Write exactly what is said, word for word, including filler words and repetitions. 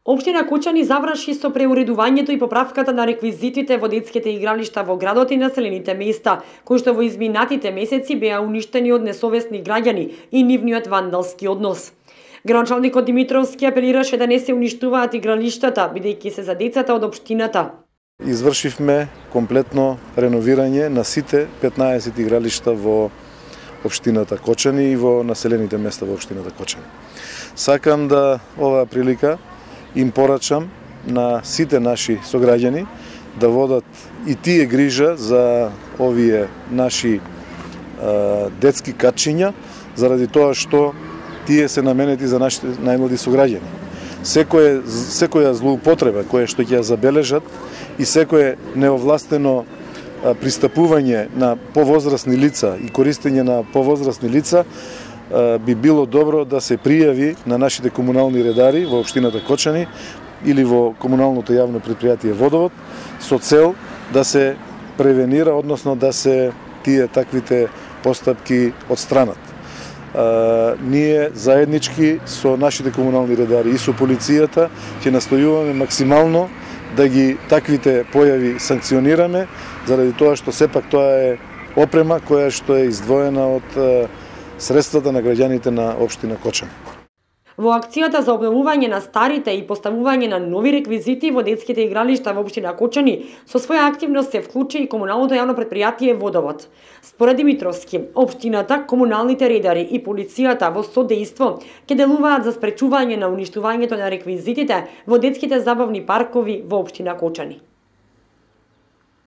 Општина Кочани заврши со преуредувањето и поправката на реквизитите во детските игралишта во градот и населените места, кои што во изминатите месеци беа уништени од несовесни граѓани и нивниот вандалски однос. Градоначалникот Димитровски апелираше да не се уништуваат игралиштата, бидејќи се за децата од општината. Извршивме комплетно реновирање на сите петнаесет игралишта во општината Кочани и во населените места во општината Кочани. Сакам да оваа прилика им порачам на сите наши сограѓани да водат и тие грижа за овие наши а, детски качиња, заради тоа што тие се наменети за нашите најмлади сограѓани. Секоја секоја злоупотреба која што ќе ја забележат и секое неовластено пристапување на повозрасни лица и користење на повозрасни лица би било добро да се пријави на нашите комунални редари во општината Кочани или во комуналното јавно предпријатие Водовод со цел да се превенира, односно да се тие таквите постапки одстранат. А, ние заеднички со нашите комунални редари и со полицијата ќе настојуваме максимално да ги таквите појави санкционираме, заради тоа што сепак тоа е опрема која што е издвоена од средствата на граѓаните на општина Кочани. Во акцијата за обновување на старите и поставување на нови реквизити во детските игралишта во општина Кочани, со своја активност се вклучи и комуналното јавно предпријатие Водовод. Според Димитровски, општината, комуналните редари и полицијата во содејство ќе делуваат за спречување на уништувањето на реквизитите во детските забавни паркови во општина Кочани.